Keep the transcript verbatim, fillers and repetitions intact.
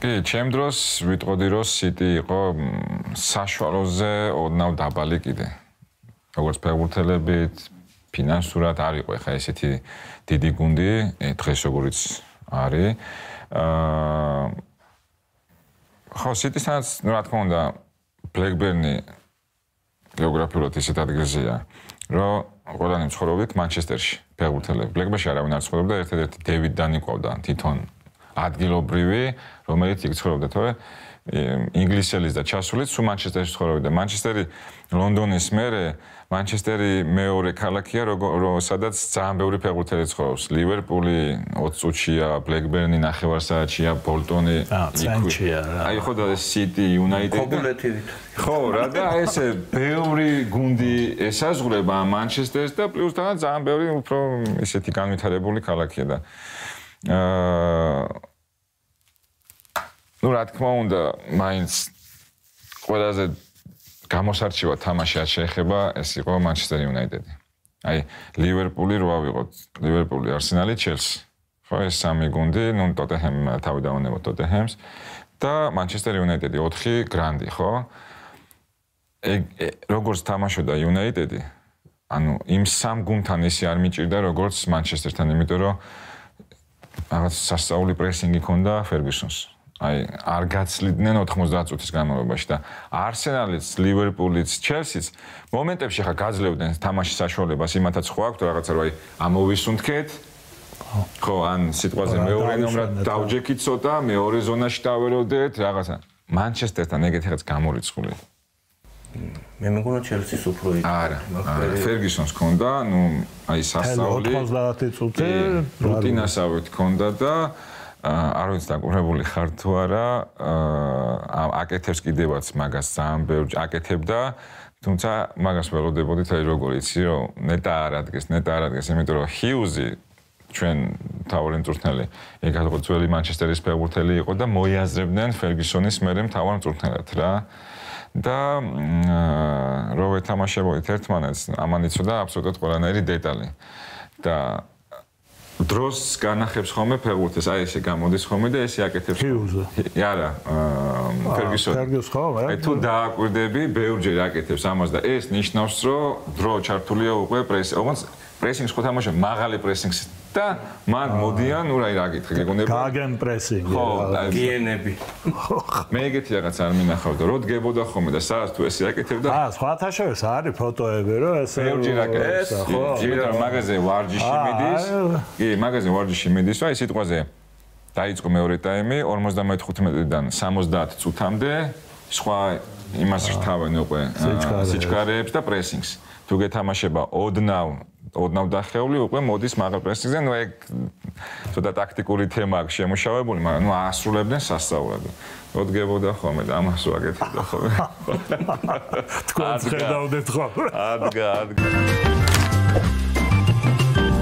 კი, ჩემ დროს ვიტყოდი რომ City იყო საშუალოზე ოდნავ დაბალი კიდე. როგორც ფეხბურთელებით, ფინანსურად არ იყო ხა ესეთი დიდი გუნდი, დღეს როგორიც არის. აა ხო, City-სანაც, ну, რა თქმა უნდა, Blackburn-ი გეოგრაფიულად ისეთ ადგილზეა, რომ ყველანი ცხოვრობდით Manchester-ში, ფეხბურთელები. Blackburn-ში არავინ არ ცხოვრობდა, ერთადერთი David Dunn იყვავდა თვითონ ადგილობრივი, რომელიც იქ ცხოვრობდა, თორე ინგლისელის და ჩასულიც სულ Manchester-ში ცხოვრობდა. Manchester-ი ლონდონის მერე Manchester-ი მეორე ქალაქია, სადაც ძალიან ბევრი ფეხბურთელი ცხოვრობს. Liverpool-ი ოცი წუთშია, Blackburn-ი ნახევარსაათშია, Bolton-ი ცენტრია რა. აი ხო და City, United. ხო, რა და ესე ბევრი გუნდი ესაზღვრება Manchester-ს და პლუს თან ძალიან ბევრი უფრო ისეთი განვითარებული ქალაქია და აა ну, რა თქმა უნდა, მაინც ყველაზე გამოსარჩევად თამაში არ შეეხება, ეს იყო Manchester United-ი. აი, Liverpool-ი რო ავიღოთ, Liverpool-ი, Arsenal-ი, Chelsea. ხო, ეს სამი გუნდი, ну, Tottenham თავი დავანებოთ Tottenham-ს და Manchester United-ი ოთხი გრანდი, ხო? ეგ როგორც თამაშობდა United-ი, ანუ იმ სამ გუნდთან ისე არ მიჭირდა, როგორც Manchester-თან, იმიტომ რომ რაღაც სასწაული პრესინგი ჰქონდა Ferguson-ს. აი, არ გაცლიდნენ ოთხმოცდაათ წუთის განმავლობაში და Arsenal-იც, Liverpool-იც, Chelsea-ც მომენტებში ხა გაძლევდნენ თამაშის საშუალებას, იმათაც ხო აქვთ რაღაცა რომ აი ამოვისუნთქეთ. ხო, ან სიტყვაზე მეორე ნომრად დავჯექით ცოტა, მეორე ზონაში დავეროდეთ, რაღაცა. Manchester-თან ეგეთი რაღაც გამორიცხული. მე მეგონა Chelsea-ს უფრო იქ. არა, Ferguson-ს ჰქონდა, ну, აი სასწაული ოცდაათი წუთი რუტინასავით ჰქონდა და არ ვიცი დაკურებული ხარ თუ არა, აკეთებს კიდევაც მაგას ძალიან ბევრი აკეთებდა, თუმცა მაგას ველოდებოდით აი როგორ იცი რომ ნეტა არ ადგეს, ნეტა არ ადგეს, იმიტომ რომ Hughes-ი ჩვენ თავარი მწვრთნელი, ეგ ძველი Manchester-ის ფეხბურთელი იყო და მოიაზრებდნენ Ferguson-ის მერე მთავარ მწვრთნელად რა. და რო ვეთამაშებოდით ერთმანეთს, ამან იცოდა აბსოლუტურად ყველანაირი დეტალი. და დროს განახებს ხოლმე ფეხბურთს, აი ესე გამოდის ხოლმე და ესე აკეთებს. Hughes-ი. არა, Ferguson. Ferguson ხო, აი თუ დააკვირდები, ბევრჯერ აკეთებს ამას და ეს ნიშნავს, რომ დრო ჩართულია უკვე პრესი, ოღონდ პრესინგს ხო თამაშობ, მაღალი პრესინგს და მან მოდიან, ну, აი რა გითხრა, გეგონება. Gagen pressing. ხო, გიენები. მე ეგეთი რაღაც არ მინახავდა, რო დგებოდა ხოლმე და სადაც თუ ესე აკეთებდა. აა, სხვათა შორის არის ფოტოები, რომ ესე ბევრჯერ აკეთებს. ხო, იმიტომ მაგაზე ვარჯიში მიდის. კი, მაგაზე ვარჯიში მიდის, აი სიტყვაზე დაიწყო მეორე ტაიმი, ორმოცდამოთხუთმეტიდან სამოცდაათ წუთამდე, სხვა იმას რთავენ უკვე სიჩქარეებს და პრესინგს. თუ გეთამაშება ოდნავ ოდნავ დახეული უკვე მოდის მაღალ პრესინგზე, ну ეგ ცოტა ტაქტიკური თემა აქვს შემუშავებული, მაგრამ ну ასრულებდნენ სასწაულად. როდგებოდა ხოლმე და ამას ვაკეთებდა ხოლმე. თქვენ ხედავდეთ ხოლმე. ადგა, ადგა.